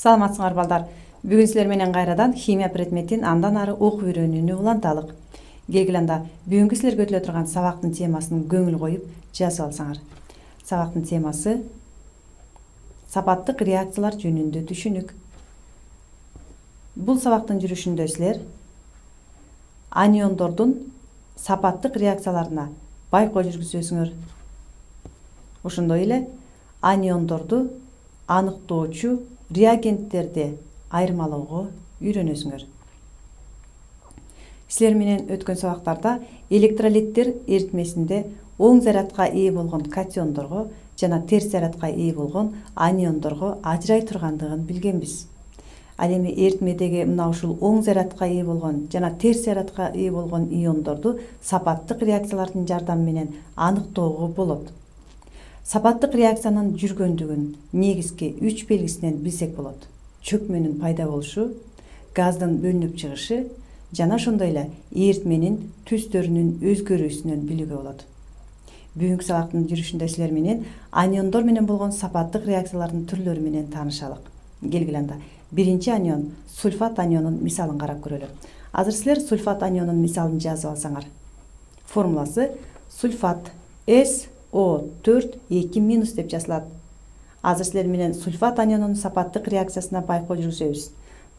Саламатсыңар балдар. Бүгүн силер менен кайрадан химия предметин андан ары окуп үйрөнүүнү уланталык. Келгиле анда бүгүнкү силерге өтүлө турган сабактын темасын көңүл коюп жазып алсаңар. Сабактын темасы сапаттык реакциялар жөнүндө түшүнүк. Бул сабактын жүрүшүндө силер аниондордун сапаттык реакцияларына байкоо жүргүзөсүңөр. Ошондой эле аниондорду аныктоочу реагенттерди айырмалоого үйрөнөсүңөр. Силер менен өткөн сабактарда электролиттер эритмесинде оң зарядка ээ болгон катиондорго жана терс зарядка ээ болгон аниондорго ажырай тургандыгын билгенбиз. Ал эми эритмедеги мына ушул оң зарядка ээ болгон жана терс зарядка ээ болгон иондорду сапаттык реакциялардын жардамы менен аныктоого болот. Сапаттык реакциянын жүргөндүгүн негизги 3 белгисинен билсек болот. Чөкмөнүн пайда болушу, газдын бөлүнүп чыгышы жана ошондой эле эритменин түстөрүнүн өзгөрүүсүнөн билүүгө болот. Бүгүнкү сабактын жүрүшүндө силер менен аниондор менен болгон сапаттык реакциялардын түрлөрү менен таанышалык. Келгиле анда биринчи анион сульфат анионун мисалын карап көрөлү. Азыр силер сульфат анионун мисалын жазып алсаңар. Формуласы сульфат SO4 2- деп жазылат. Азыр силер менен сульфат анионунун сапаттык реакциясына байкоо жүргүзөбүз.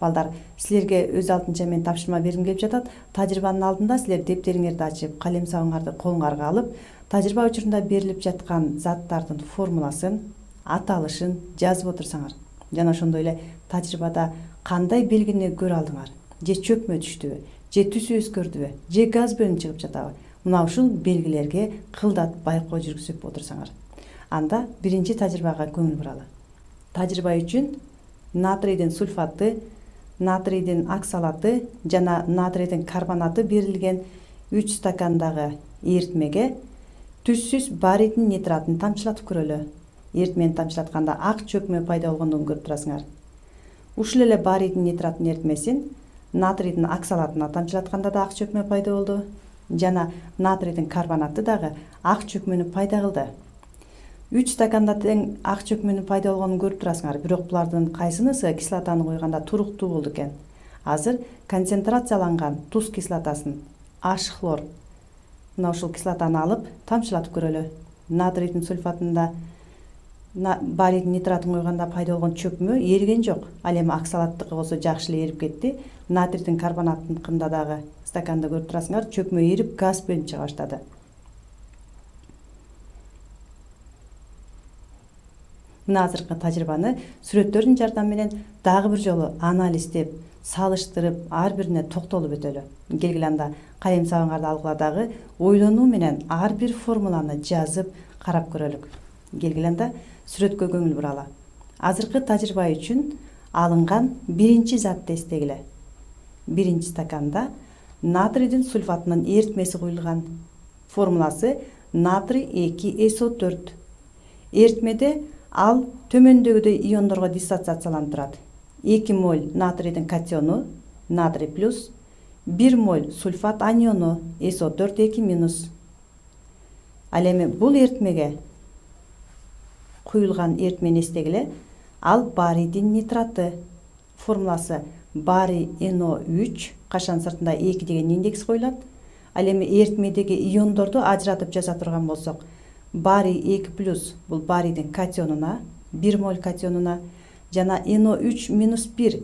Балдар, силерге өз алдынча мен тапшырма бергим келип жатат. Тажрыйбанын алдында силер дептериңерди ачып, калем сабыңарды колуңарга алып, тажрыйба учурунда берилип жаткан заттардын формуласын, аталышын жазып отурсаңар. Жана ошондой эле тажрыйбада кандай белгини көрө алдыңар? Же чөкмө түштүбү, же түсү өзгөрдүбү, же газ бөлүнүп чыгып жатабы? Мына ушул белгилерге кылдат байкоо жүргүзүп отурсаңар. Анда биринчи тажрыйбага көңүл буралы. Тажрыйба үчүн натрийдин сульфаты, натрийдин оксалаты жана натрийдин карбонаты берилген 3 стакандагы эритмеге түссүз барийдин нитратын тамчылатып көрөлү. Эритмени тамчылатканда ак чөкмө пайда болгондугун көрүп турасыңар. Ушул эле барийдин нитратын эритмесин натрийдин оксалатына тамчылатканда да ак чөкмө пайда болду. Жана натрийдин карбонаты дагы ак чөкмөнү пайда кылды. 3 стаканда тең ак чөкмөнүн пайда болгонун көрүп турасыңар, бирок булардын кайсынысы кислотаны койганда туруктуу болду экен? Азыр концентрацияланган туз кислотасын H-хлор мына ушул кислотаны алып тамчылатып көрөлү. Натрийдин сульфатында барийдин нитратын койганда пайда болгон чөкмө эриген жок. Ал эми оксалаттыкы болсо жакшы эле эрип кетти. Натрийдин карбонатыныкында дагы стаканда көрүп турасыңар, чөкмө эрип газ бөлүнүп чыга баштады. Мына азыркы тажрыйбаны сүрөттөрдүн жардамы менен дагы бир жолу анализдеп, салыштырып, ар бирине токтолуп өтөлү. Келгиле анда калем сабыңарды алгыла дагы ойлонуу менен ар бир формуланы жазып карап көрөлүк. Келгиле анда сүрөткө көңүл буралы. Азыркы тажрыйба үчүн алынган биринчи затты эстегиле. Биринчи стаканда натрийдин сульфатынын эритмеси куюлган. Формуласы натрий 2SO4. Эритмеде ал төмөндөгүдөй иондорго диссоциацияланып турат. 2 моль натрийдин катиону, натрий плюс, 1 моль сульфат аниону, SO4 2-. Ал эми бул эритмеге куюлган эритмени эстегиле, ал барийдин нитраты. Формуласы барий NO3, кашан сыртында 2 деген индекс коюлат. Ал эми эритмедеги иондорду ажыратып жаза турган болсок, барий 2+ бул барийдин катионуна, 1 моль катионуна, жана NO3-1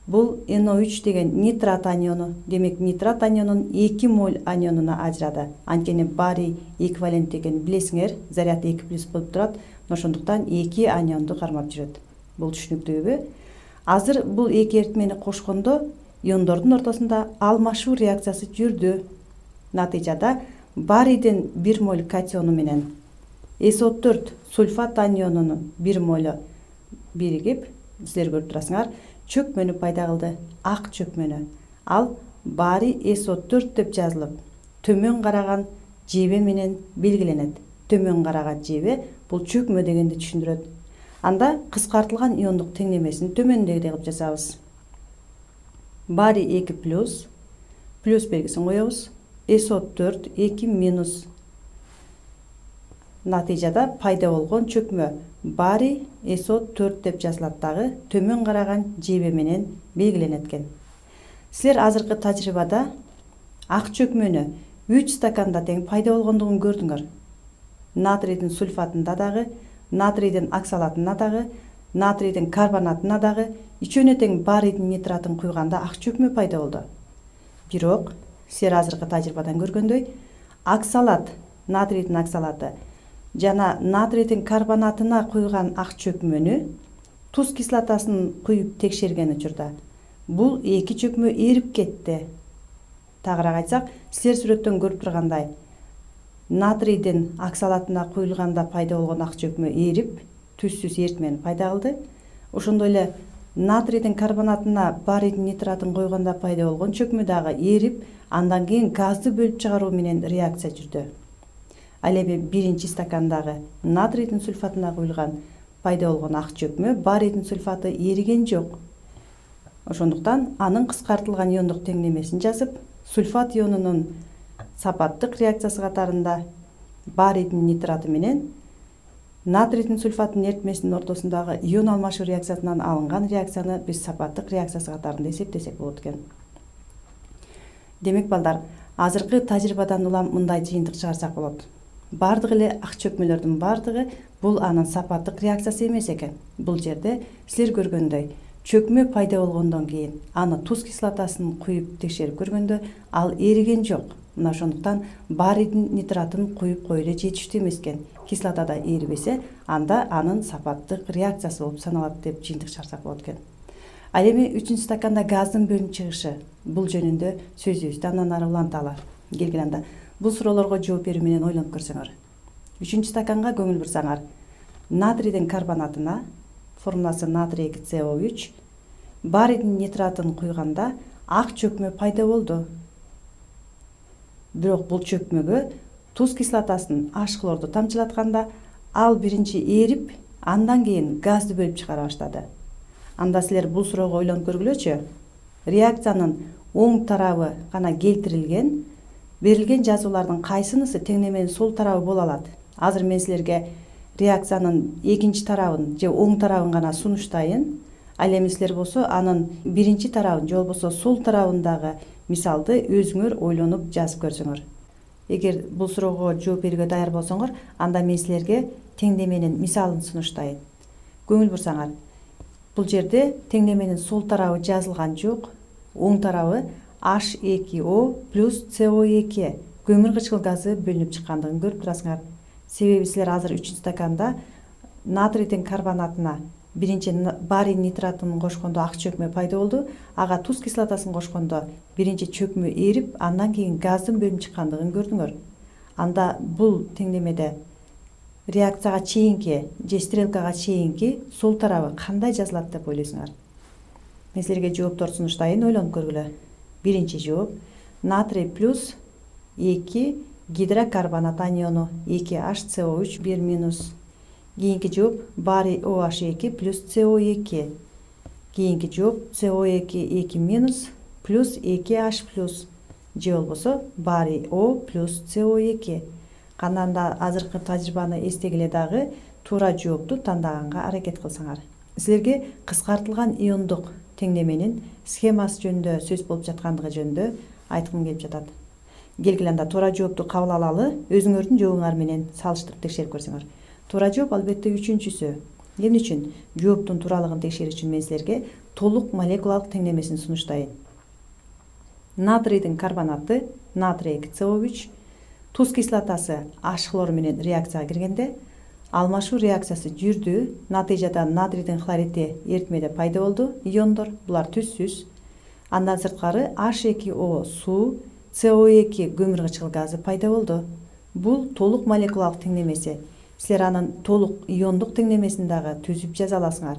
бул NO3 деген нитрат аниону. Демек нитрат анионун 2 моль анионуна ажырады. Анткени барий эквивалент деген билесиңер, заряд 2+ болуп турат. Ошондуктан 2 анионду кармап жүрөт. Бул түшүнүктүүбү? Азыр бул эки эритмени кошкондо иондордун ортосунда алмашуу реакциясы жүрдү. Натыйжада барийдин 1 моль катиону менен SO4 сульфат анионунун 1 молю биригип, силер көрүп турасыңар, чөкмөнү пайда кылды, ак чөкмөнү. Ал барий SO4 деп жазылып, төмөн караган жебе менен белгиленет. Төмөн караган жебе бул чөкмө дегенди түшүндүрөт. Анда кыскартылган иондук теңдемесин төмөндөгүдөй кылып жазабыз. Барий 2+, плюс белгисин коебуз, SO4 2-. Натыйжада пайда болгон чөкмө барий SO4 деп жазылат дагы төмөн караган жебе менен белгиленет экен. Силер азыркы тажрыйбада ак чөкмөнү 3 стаканда тең пайда болгондугун көрдүңөр. Натрийдин сульфатында дагы, натрийдин оксалатына дагы, натрийдин карбонатына дагы үчөөнө тең барийдин нитратын куйганда ак чөкмө пайда болду. Бирок силер азыркы тажрыйбадан көргөндөй, оксалат, натрийдин оксалаты жана натрийдин карбонатына куйган ак чөкмөнү туз кислотасын куюп текшерген учурда бул эки чөкмө эрип кетти. Тагыраак айтсак, силер сүрөттөн көрүп тургандай, натрийдин оксалатына куюлганда пайда болгон ак чөкмө эрип, түзсүз эритмени пайда кылды. Ошондой эле натрийдин карбонатына барийдин нитратын койгондо пайда болгон чөкмө дагы эрип, андан кийин газды бөлүп чыгаруу менен реакция жүрдү. Ал эми биринчи стакандагы натрийдин сульфатына куюлган пайда болгон ак чөкмө барийдин сульфаты эриген жок. Ошондуктан анын кыскартылган иондук теңдемесин жазып, сульфат ионунун сапаттык реакциясы катарында барийдин нитраты менен натрийдин сульфатынын эритмесинин ортосундагы ион алмашуу реакциясынан алынган реакцияны биз сапаттык реакциясы катарында эсептесек болот экен. Демек балдар, азыркы тажрыйбадан улам мындай жыйынтык чыгарсак болот. Бардык эле ак чөкмөлөрдүн бардыгы бул анын сапаттык реакциясы эмес экен. Бул жерде силер көргөндөй, чөкмө пайда болгондон кийин аны туз кислотасын куюп текшерип көргөндө ал эриген жок. Мына ошондуктан барийдин нитратын куюп кое эле жетиштүү эмес экен. Кислотада эрибесе, анда анын сапаттык реакциясы болуп саналат деп жыйынтык чыгарсак болот экен. Ал эми 3 стаканда газдын бөлүнүп чыгышы, бул жөнүндө сөзүбүздү андан ары уланталы. Келгиле анда бул суроолорго жооп берүү менен ойлонуп көрсөңөр. 3 стаканга көңүл бурсаңар, натрийдин карбонатына, формуласы натрий 2CO3, барийдин нитратын куйганда ак чөкмө пайда болду. Бирок бул чөкмөгө туз кислотасын H хлорду тамчылатканда ал биринчи эрип, андан кийин газды бөлүп чыгара баштады. Анда силер бул суроого ойлонуп көргүлөчү. Реакциянын оң тарабы гана келтирилген, берилген жазуулардын кайсынысы теңнеменин сол тарабы боло алат? Азыр мен силерге реакциянын экинчи тарабын же оң тарабын гана сунуштайын. Ал эми силер болсо анын биринчи тарабын же болбосо сол тарабындагы мисалды өзүңөр ойлонуп жазып көрсөңөр. Эгер бул суроого жооп берүүгө даяр болсоңор, анда мен силерге теңдеменин мисалын сунуштайын. Көңүл бурсаңар, бул жерде теңдеменин сол тарабы жазылган жок. Оң тарабы H2O плюс CO2 көмүр кычкыл газы бөлүнүп чыккандыгын көрүп турасыңар. Себеби силер азыр 3 стаканда натрийдин карбонатына биринчи барий нитратын кошкондо ак чөкмө пайда болду, ага туз кислотасын кошкондо биринчи чөкмө эрип, андан кийин газдын бөлүнүп чыккандыгын көрдүңөр. Анда бул теңдемеде реакцияга чейинки же стрелкага чейинки сол тарабы кандай жазылат деп ойлойсуңар? Мен силерге жоопторду сунуштайын, ойлонуп көргүлө. Биринчи жооп натрий плюс 2 гидрокарбонат аниону 2HCO3 1 минус. Кийинки жооп барий OH2 плюс CO2. Кийинки жооп CO2 2 минус плюс 2H плюс. Же болбосо барий O плюс CO2. Канданда азыркы тажрыйбаны эстегиле дагы туура жоопту тандаганга аракет кылсаңар. Силерге кыскартылган иондук теңдеменин схемасы жөнүндө сөз болуп жаткандыгы жөнүндө айткым келип жатат. Келгиле анда туура жоопту кабыл алалы, өзүңөрдүн жообуңар менен салыштырып текшерип көрсөңөр. Туура жооп албетте үчүнчүсү. Эмне үчүн? Жооптун тууралыгын текшерүү үчүн мен силерге толук молекулалык теңдемесин сунуштайын. Натрийдин карбонаты натрий 2CO3, туз кислотасы H хлор менен реакцияга киргенде алмашуу реакциясы жүрдү. Натыйжада натрийдин хлориди эритмеде пайда болду, иондор, булар түзсүз. Андан сырткары H2O суу, CO2 көмүр кычкыл газы пайда болду. Бул толук молекулалык теңдемеси. Силер анын толук иондук теңдемесин дагы түзүп жаза аласыңар.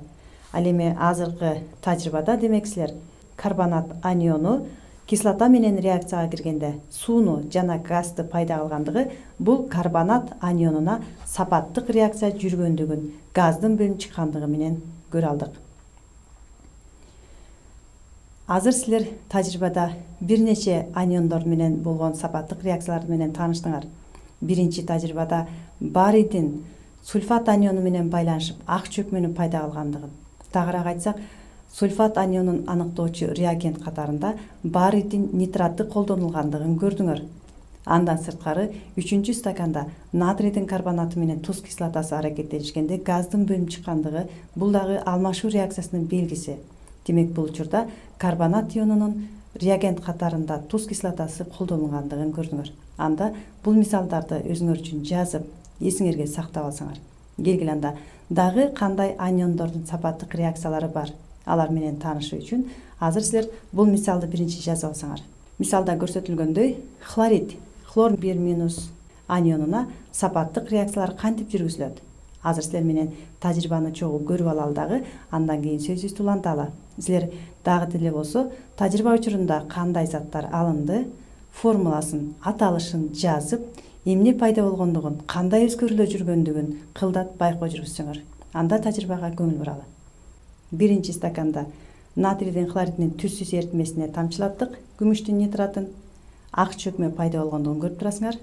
Ал эми азыркы тажрыйбада демек силер карбонат аниону кислота менен реакцияга киргенде сууну жана газды пайда кылгандыгы бул карбонат анионуна сапаттык реакция жүргөндүгүн, газдын бөлүнүп чыккандыгы менен көрө алдык. Азыр силер тажрыйбада бир нече аниондор менен болгон сапаттык реакциялар менен тааныштыңар. Биринчи тажрыйбада барийдин сульфат аниону менен байланышып ак чөкмөнү пайда кылгандыгын, тагыраак айтсак, сульфат анионун аныктоочу реагент катарында баритин нитраты колдонулгандыгын көрдүңөр. Андан сырткары 3-чү стаканда натрийдин карбонаты менен туз кислотасы аракеттенишкенде газдын бөлүнүп чыккандыгы бул дагы алмашуу реакциясынын белгиси. Демек бул учурда карбонат ионунун реагент катарында туз кислотасы колдонулгандыгын көрдүңөр. Анда бул мисалдарды өзүңөр үчүн жазып, эсиңерге сактап алсаңар. Келгиле анда дагы кандай аниондордун сапаттык реакциялары бар? Алар менен таанышуу үчүн азыр силер бул мисалды биринчи жазып алсаңар. Мисалда көрсөтүлгөндөй, хлорид, хлор 1- анионуна сапаттык реакциялар кантип жүргүзүлөт? Азыр силер менен тажрыйбаны чогуу көрүп алалы дагы, андан кийин сөзүбүздү уланталы. Силер дагы деле болсо тажрыйба учурунда кандай заттар алынды, формуласын, аталышын жазып, эмне пайда болгондугун, кандай өзгөрүүлөр жүргөндүгүн кылдат байкоо жүргүзсөңөр. Анда тажрыйбага көңүл буралы. Биринчи стаканда натрийдин хлоридинин түзсүз эритмесине тамчылаттык күмүштүн нитратын, ак чөкмө пайда болгондугун көрүп турасыңар.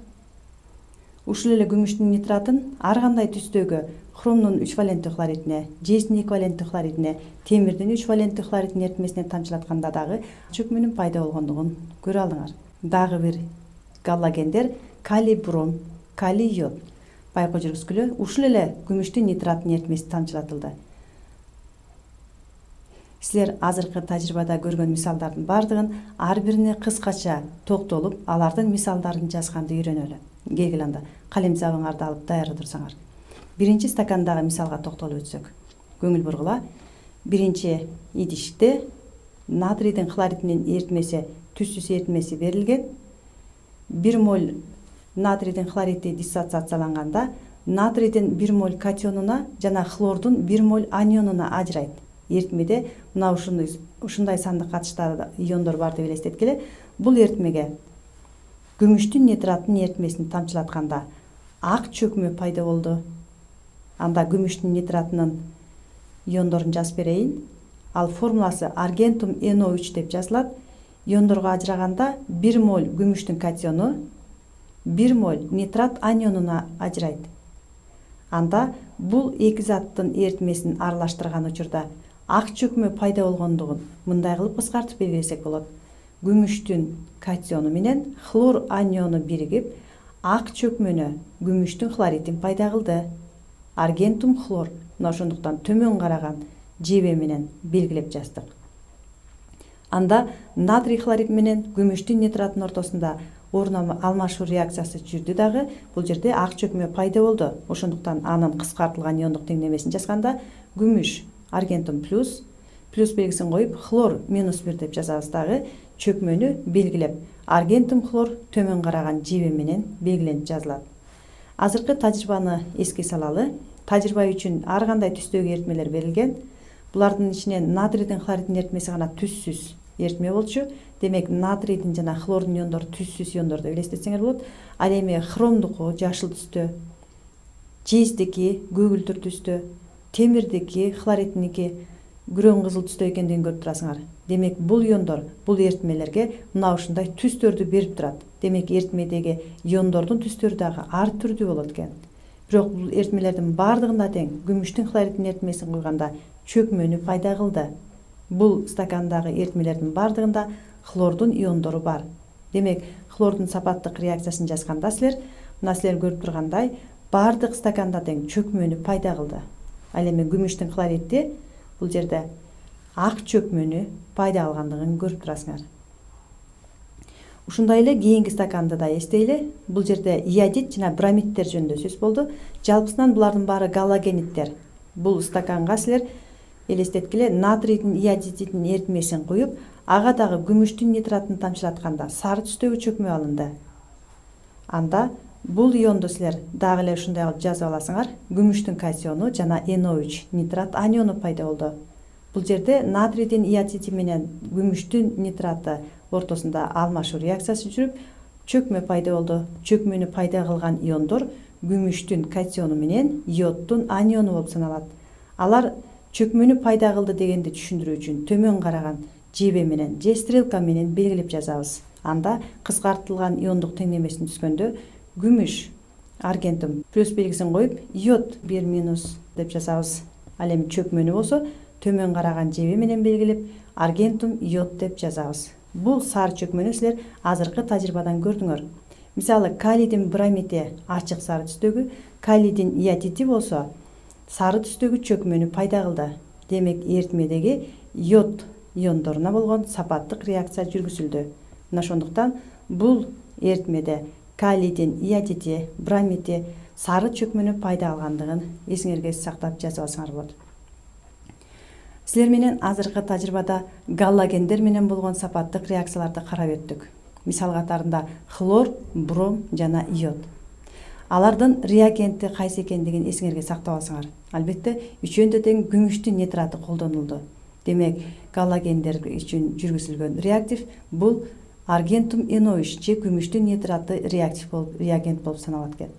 Ушул эле күмүштүн нитратын ар кандай түстөгү хромдун 3 валенттүү хлоридине, жездин 2 валенттүү хлоридине, темирдин 3 валенттүү хлоридинин эритмесине тамчылатканда дагы чөкмөнүн пайда болгондугун көрө алыңар. Дагы бир галлогендер калий бром, калий йод байкоо жүргүзгүлө ушул эле күмүштүн нитратын эритмеси тамчылатылды. Силер азыркы тажрыйбада көргөн мисалдардын бардыгын ар бирине кыскача токтолуп, алардын мисалдарын жазганды үйрөнөлү. Келгиле анда калем забыңарды алып даярда турсаңар. Биринчи стакандагы мисалга токтолуп өтсөк. Көңүл бургула. Биринчи идиште натрийдин хлоридинин эритмеси, түзсүз эритмеси берилген. 1 моль натрийдин хлориди диссоциацияланганда натрийдин 1 моль катионуна жана хлордун 1 моль анионуна ажырайт. Эритмеде мына ушундай сандык катыштагы иондор бар деп элестеткиле. Бул эритмеге күмүштүн нитратын эритмесин тамчылатканда ак чөкмө пайда болду. Анда күмүштүн нитратынын иондорун жазып берейин. Ал формуласы аргентум NO3 деп жазылат. Иондорго ажыраганда 1 моль күмүштүн катиону 1 моль нитрат анионуна ажырайт. Анда бул эки заттын эритмесин аралаштырган учурда ак чөкмө пайда болгондугун мындай кылып кыскартып белгилесек болот. Күмүштүн катиону менен хлор аниону биригип, ак чөкмөнү күмүштүн хлоридин пайда кылды. Аргентум хлор. Мына ошондуктан төмөн караган жебе менен белгилеп жаздык. Анда натрий хлорид менен күмүштүн нитраттын ортосунда орун алмашуу реакциясы жүрдү дагы. Бул жерде ак чөкмө пайда болду. Ошондуктан анын кыскартылган иондук теңдемесин жазганда күмүш аргентум плюс белгисин коюп хлор -1 деп жазабыз дагы. Чөкмөнү белгилеп аргентум хлор төмөн караган жебе менен белгиленип жазылат. Азыркы тажрыйбаны эске салалы. Тажрыйба үчүн ар кандай түстөгү эритмелер берилген. Булардын ичинен натрийдин хлоридинин эритмеси гана түзсүз эритме болчу. Демек натрийдин жана хлордун иондору түзсүз иондор деп элестетсеңер болот. Ал эми хромдуку жашыл түстө, жездики көгүлдүр түстө, темирдики, хлоридиники күрөң кызыл түстө экендигин көрүп турасыңар. Демек бул иондор бул эритмелерге мына ушундай түстөрдү берип турат. Демек эритмедеги иондордун түстөрү дагы ар түрдүү болот экен. Бирок бул эритмелердин бардыгында тең күмүштүн хлоридинин эритмесин койганда чөкмөнү пайда кылды. Бул стакандагы эритмелердин бардыгында хлордун иондору бар. Демек хлордун сапаттык реакциясын жазганда силер көрүп тургандай бардык стаканда тең чөкмөнү пайда кылды. Ал эми күмүштүн хлориди бул жерде ак чөкмөнү пайда алгандыгын көрүп турасыңар. Ушундай эле кийинки стаканды да эстейли. Бул жерде иодид жана бромидтер жөнүндө сөз болду. Жалпысынан булардын баары галогениттер. Бул стаканга силер элестеткиле натрийдин иодидинин эритмесин куюп, ага дагы күмүштүн нитратын тамчылатканда сары түстөгү чөкмө алынды. Анда бул ионду силер дагы эле ушундай кылып жазып аласыңар. Күмүштүн катиону жана NO3 нитрат аниону пайда болду. Бул жерде натрийдин иодиди менен күмүштүн нитраты ортосунда алмашуу реакциясы жүрүп, чөкмө пайда болду. Чөкмөнү пайда кылган иондор күмүштүн катиону менен йоддун аниону болуп саналат. Алар чөкмөнү пайда кылды дегенди түшүндүрүү үчүн төмөн караган жебе менен же стрелка менен белгилеп жазабыз. Анда кыскартылган иондук теңдемесин түзгөндө күмүш аргентум плюс белгисин коюп йод 1 минус деп жазабыз. Ал эми чөкмөнү болсо төмөн караган жеби менен белгилеп аргентум йод деп жазабыз. Бул сары чөкмөнү силер азыркы тажрыйбадан көрдүңөр. Мисалы калийдин бромити ачык сары түстөгү, калийдин иодиди болсо сары түстөгү чөкмөнү пайда кылды. Демек эритмедеги йод иондоруна болгон сапаттык реакция жүргүзүлдү. Мына ошондуктан бул эритмеде калийдин иодиди, бромити сары чөкмөнү пайда алгандыгын эсиңерге сактап жазып алсаңар болот. Силер менен азыркы тажрыйбада галлогендер менен болгон сапаттык реакцияларды карап өттүк. Мисал катарында хлор, бром жана йод. Алардын реагенти кайсы экендигин эсиңерге сактап алсаңар. Албетте үчөөндө тең күмүштүн нитраты колдонулду. Демек галлогендер үчүн жүргүзүлгөн реактив бул аргентум NO3 же күмүштүн нитраты реагент болуп саналат экен.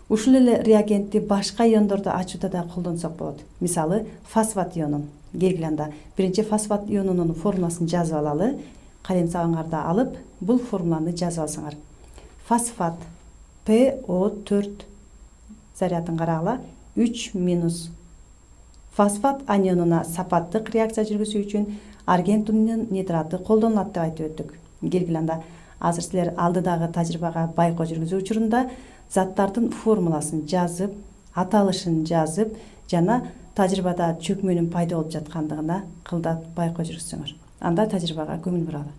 Ушул эле реагентти башка иондорду ачууда да колдонсок болот. Мисалы фосфат ионун. Келгиле анда биринчи фосфат ионунун формуласын жазып алалы. Калем сабаңарды алып, бул формуланы жазып алсаңар. Фосфат PO4 зарядын карагыла 3 минус. Фосфат анионуна сапаттык реакция жүргүзүү үчүн аргентумдун нитраты колдонулат деп айтып өттүк. Келгиле анда азыр силер алдыдагы тажрыйбага байкоо жүргүзүү учурунда заттардын формуласын жазып, аталышын жазып жана тажрыйбада чөкмөнүн пайда болуп жаткандыгына кылдат байкоо жүргүзсөңөр. Анда тажрыйбага көңүл буралы.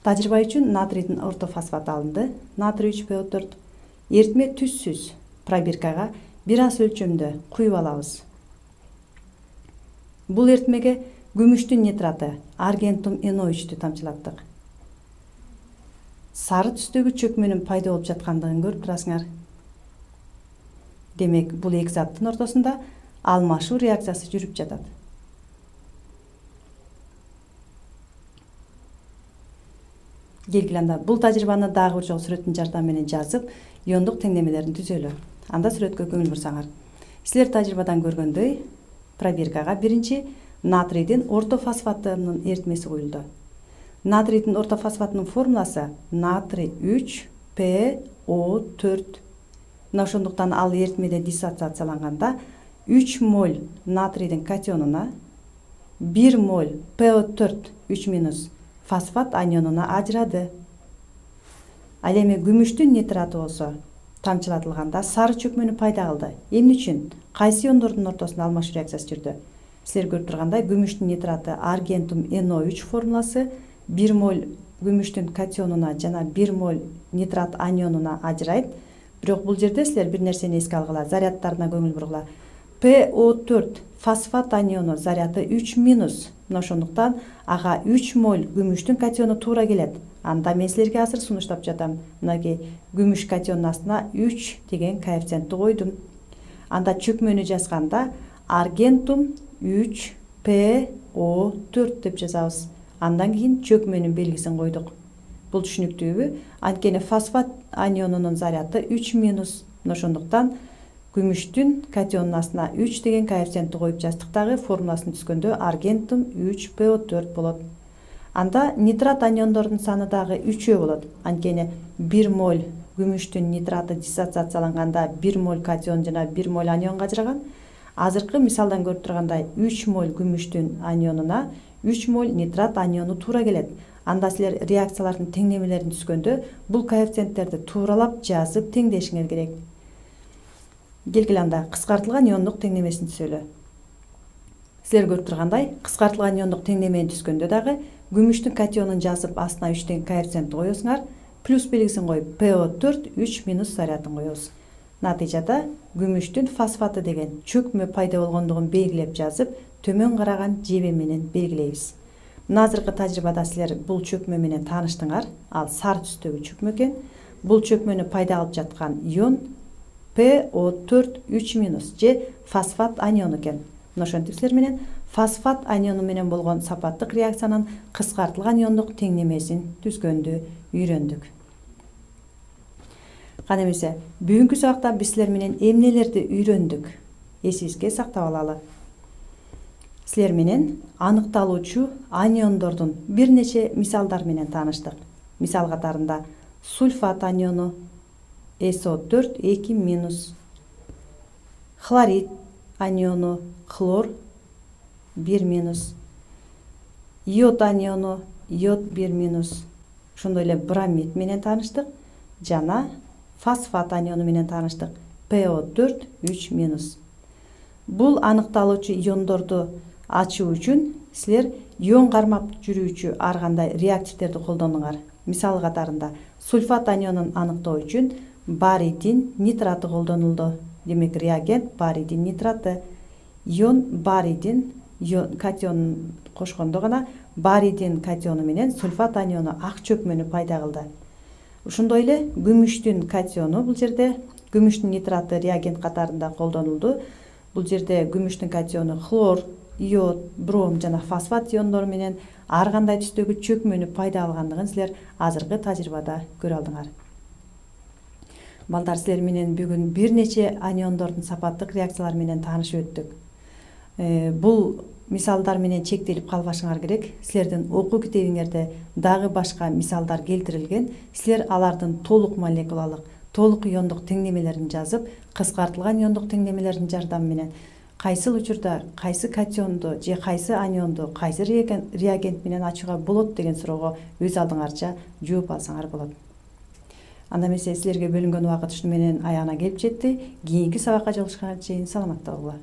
Тажрыйба үчүн натрийдин ортофосфаты алынды. Натрий 3PO4 эритме түссүз пробиркага бир аз өлчөмдө куюп алабыз. Бул эритмеге күмүштүн нитраты аргентум NO3-тү тамчылаттык. Сары түстөгү чөкмөнүн пайда болуп жаткандыгын көрүп турасыңар. Демек бул эки заттын ортосунда алмашуу реакциясы жүрүп жатат. Келгиле анда бул тажрыйбаны дагы бир жолу сүрөттүн жардамы менен жазып, иондук теңдемелерин түзөлү. Анда сүрөткө көңүл бурсаңар. Силер тажрыйбадан көргөндөй, пробиркага биринчи натрийдин ортофосфатынын эритмеси куюлду. Натрийдин ортофосфатынын формуласы натрий 3PO4. Мына ошондуктан ал эритмеде диссоциацияланганда 3 моль натрийдин катионуна 1 моль PO4 3 минус фосфат анионуна ажырады. Ал эми күмүштүн нитраты болсо тамчылатылганда сары чөкмөнү пайда кылды. Эмне үчүн? Кайсы иондордун ортосунда алмашуу реакциясы жүрдү? Силер көрүп тургандай күмүштүн нитраты аргентум NO3 формуласы 1 моль күмүштүн катионуна жана 1 моль нитрат анионуна ажырайт. Бирок бул жерде силер бир нерсени эске алгыла, зарядтарына көңүл бургула. PO4 фосфат аниону заряды 3 минус. Мына ошондуктан ага 3 моль күмүштүн катиону туура келет. Анда мен силерге азыр сунуштап жатам. Мынакей күмүш катионунун астына 3 деген коэффициентти койдум. Анда чөкмөнү жазганда аргентум 3PO4 деп жазабыз. Андан кийин чөкмөнүн белгисин койдук. Бул түшүнүктүүбү? Анткени фосфат анионунун заряды 3 минус. Мына ошондуктан күмүштүн катионунун астына 3 деген коэффициентти коюп жаздык дагы формуласын түзгөндө аргентум 3PO4 болот. Анда нитрат аниондордун саны дагы 3 болот. Анткени 1 моль күмүштүн нитраты диссоциацияланганда 1 моль катион жана 1 моль анионго ажыраган. Азыркы мисалдан көрүп тургандай 3 моль күмүштүн анионуна 3 моль нитрат аниону туура келет. Анда силер реакциялардын теңдемелерин түзгөндө бул коэффициенттерди тууралап жазып теңдешиңер керек. Келгиле анда кыскартылган иондук теңдемесин түзөлү. Силер көрүп тургандай кыскартылган иондук теңдемени түзгөндө дагы күмүштүн катионун жазып астына 3 деген коэффициентти коесуңар, плюс белгисин коюп PO4 3 минус зарядын коебуз. Натыйжада күмүштүн фосфаты деген чөкмө пайда болгондугун белгилеп жазып, төмөн караган жеби менен белгилейбиз. Мына азыркы тажрыйбада силер бул чөкмө менен тааныштыңар. Ал сары түстөгү чөкмө экен. Бул чөкмөнү пайда алып жаткан ион PO4 3 минус же фосфат аниону экен. Мына ошентип силер менен фосфат аниону менен болгон сапаттык реакциянын кыскартылган иондук теңдемесин түзгөндү үйрөндүк. Кана эмесе, бүгүнкү сабакта биз силер менен эмнелерди үйрөндүк? Эсибизге сактап алалы. Силер менен аныкталуучу аниондордун бир нече мисалдар менен тааныштык. Мисал катарында сульфат аниону, SO4 2 минус. Хлорид аниону хлор 1 минус. Йод аниону йод 1 минус. Ошондой эле бромид менен тааныштык жана фосфат аниону менен тааныштык PO4 3 минус. Бул аныкталуучу иондорду ачуу үчүн силер ион кармап жүрүүчү ар кандай реактивдерди колдонуңар. Мисалы катарында сульфат анионун аныктоо үчүн барийдин нитраты колдонулду. Демек реагент барийдин нитраты. Ион барийдин катионун кошкондо гана барийдин катиону менен сульфат аниону ак чөкмөнү пайда кылды. Ошондой эле күмүштүн катиону бул жерде күмүштүн нитраты реагент катарында колдонулду. Бул жерде күмүштүн катиону хлор, йод, бром жана фосфат иондору менен ар кандай түстөгү чөкмөнү пайда алгандыгын силер азыркы тажрыйбада көрө алдыңар. Балдар, силер менен бүгүн бир нече аниондордун сапаттык реакциялары менен таанышып өттүк. Бул мисалдар менен чектелип калбашыңар керек. Силердин окуу китебиңерде дагы башка мисалдар келтирилген. Силер алардын толук молекулалык, толук иондук теңдемелерин жазып, кыскартылган иондук теңдемелердин жардамы менен кайсыл учурда кайсы катионду же кайсы анионду кайсы реагент менен ачууга болот деген суроого өз алдыңарча жооп алсаңар болот. Анда эмесе силерге бөлүнгөн убакыт ушуну менен аягына келип жетти. Кийинки сабакка жолугушканга чейин саламатта болгула.